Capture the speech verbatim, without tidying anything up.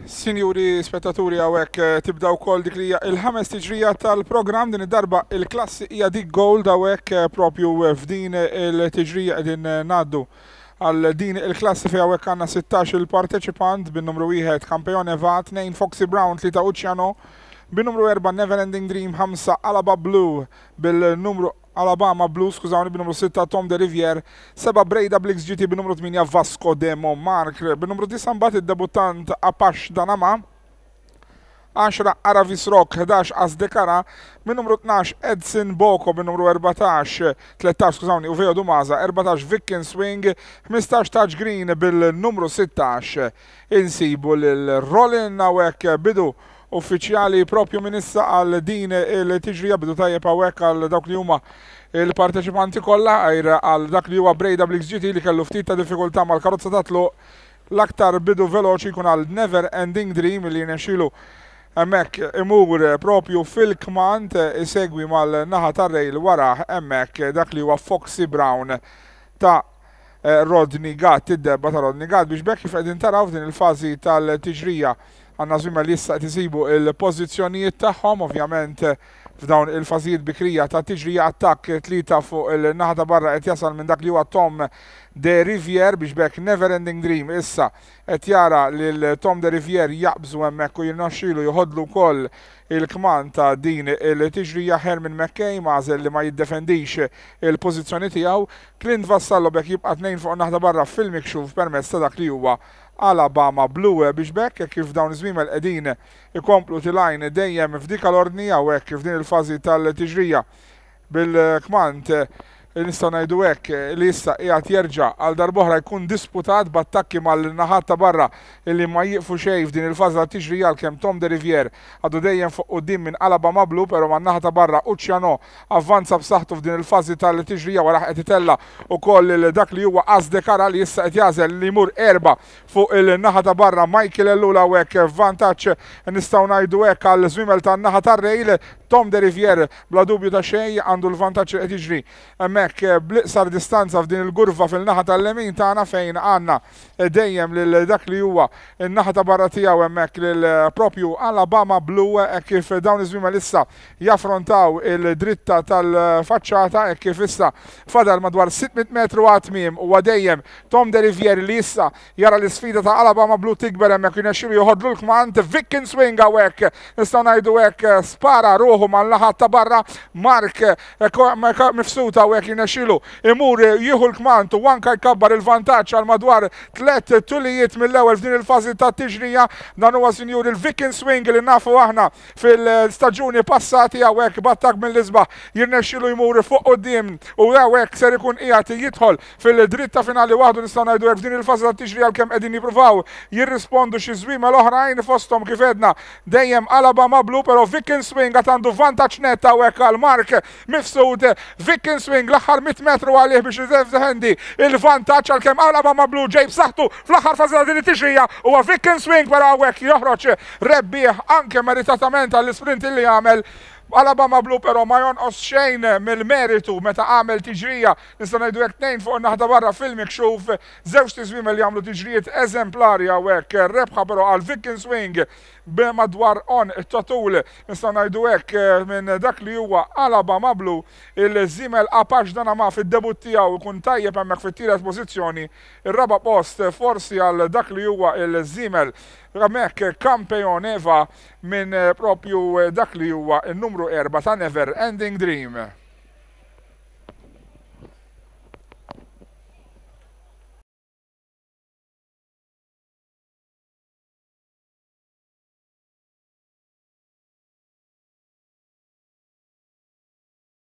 Sinjuri spettaturi, hawnhekk tibda wkoll dik li hija il-ħames tiġrija tal-programm. Din id-darba il-klassi hija dik Gold. Hawnhekk propju f'din il-tiġrija qegħdin ngħaddu għal din il-klassi fejn hawnhekk għandna sittax il-parteċipant, bin-numru wieħed Campione Va, tnejn Foxy Brown, tlieta Ucciano, bin-numru erba' Never Ending Dream, ħamsa Alaba Blue, bil-numru Alabama Blue, skużawni, bin-numru sitta Tom de Rivier, seba' Breda Blix G T, bin-numru tmienja Vasco de Montmartre, bin-numru disgħa mbagħad id-debuttant Apache Danama, għaxra Aravis Rock, ħdax Asdekara, bin-numru tnax Edson Boko, bin-numru erbatax, tlettax, skużawni, Uveo Dumaza, erbatax Vikin Swing, ħmistax Touch Green, bil-numru sittax insibu lil Rollin. Hawnhekk bidu uffiċjali propju minn issa għal din il-tiġrija, bidu tajjeb hawnhekk għal dawk li huma il-parteċipanti kollha għajr għal dak li huwa Breda Blix G T li kellu ftit ta' diffikultà mal-karozza ta' tluq. L-aktar bidu veloċi jkun għal Never Ending Dream li jirnexxielu hemmhekk imur propju fil-kmand, isegwi mal-naħa tar-rail wara hemmhekk dak li huwa Foxy Brown ta' Rodney Gatt, id-debba ta' Rodney Gatt, biex bekk kif qegħdin taraw f'din il-fażi tal-tiġrija għandna żwiemel li issa qed isibu il-pożizzjonijiet tagħhom. Ovvjament f'dawn il-fażijiet bikrija ta' tiġrija attakk tlieta fuq il-naħa ta' barra qed jasal minn dak li huwa Tom de Rivier, biex bekk Never Ending Dream issa qed jara lil Tom de Rivier jaqbżu hemmhekk u jirnexxielu joħodlu wkoll il-kmand ta' din il-tiġrija. Herman McKay għażel li ma jiddefendix il-pożizzjoni tiegħu. Clint Vassallo bekk jibqa' tnejn fuq naħa ta' barra fil-mikxuf permezz ta' dak li huwa Alabama Blue, biex bekk kif dawn iż-żwiemel qegħdin ikomplu tilgħin dejjem f'dik l-ordni hawnhekk f'din il-fażi tal-tiġrija, bil-kmand nistgħu ngħidu hekk li issa qiegħed jerġa' għal darb'oħra jkun disputat b'attakki mal-naħat ta' barra illi ma jieqfu xejn f'din il-fażi ta' tiġrija, għalkemm Tom de Rivier għadu dejjem fuq quddiem minn Alabama Blue, però man-naħa ta' barra Ucciano avvanza b'saħħtu f'din il-fażi tal-tiġrija. Wara qed itella' ukoll dak li huwa Asdekara li issa qed jagħżel li jmur erba' fuq il-naħa ta' barra. Michael Ellul hawnhekk vantaġġ nistgħu ngħidu hekk għal żwiemel tan-naħa tar-rail. Tom de Rivier bla dubju ta' xejn għandu l-vantaġġ, qed jiġri hemmhekk bl-iqsar distanza f'din il-gurva fil-naħa tal-lemin tagħna fejn għandna dejjem lil dak li huwa n-naħa ta' barra tiegħu hemmhekk lil propju Alabama Blue, kif dawn iż-żwiemel issa jaffrontaw il-dritta tal-faċċata, kif issa fadal madwar sitt mitt metru għat-tmiem. Huwa dejjem Tom de Rivier li issa jara l-isfida ta' Alabama Blue tikber hemmhekk, jirnexxielu joħodlu l-kmand. Vikin Swing hawnhekk nistgħu ngħidu hekk spara ruħu mal-naħa ta' barra. Mark Mifsud hawnhekk jirnexxielu imur jieħu l-kmand u anka jkabbar il-vantaġġ għal madwar tliet tulijiet mill-ewwel f'din il-fażi ta' tiġrija. Dan huwa, sinjur, il-Vikin Swing li nafu aħna fil-staġuni passati. Hawnhekk b'attakk mill-isbaħ jirnexxielu jmur fuq quddiem u hawnhekk ser ikun qiegħed jidħol fil-dritta finali waħdu, nistgħu ngħidu hekk, f'din il-fażi ta' tiġrija, għalkemm qegħdin jippruvaw jirrispondu xi żwiemel oħrajn, fosthom kif għedna dejjem Alabama Blue, però Vikin Swing għad għandu vantaġġ net hawnhekk għal Mark Mifsud. Vikin Swing l-aħħar mitt metru għalih biex jiddefendi il-vantaġġ, għalkemm Alabama Blue ġej b'saħħtu fl-aħħar fażi ta' din it-tiġrija. Huwa Vikin Swing però hawnhekk joħroġ rebbieħ anke meritatament għall-isprint li għamel Alabama Blue, però ma jonqos xejn mill-meritu meta għamel tiġrija nistgħu ngħidu hekk tnejn fuq naħa barra fil-mikxuf, żewġ tiżwiemel li għamlu tiġrijiet eżemplari hawnhekk. Rebħa però għal Vikin Swing b'madwar għonq ta' tul, nistgħu ngħidu hekk, minn dak li huwa Alabama Blue. Il-żiemel Apache Danama fid-debut tiegħu jkun tajjeb hemmhekk fit-tielet pożizzjoni. Ir-raba' post forsi għal dak li huwa il-żiemel hemmhekk Campion Eva minn propju dak li huwa il-numru erba' ta' Never Ending Dream.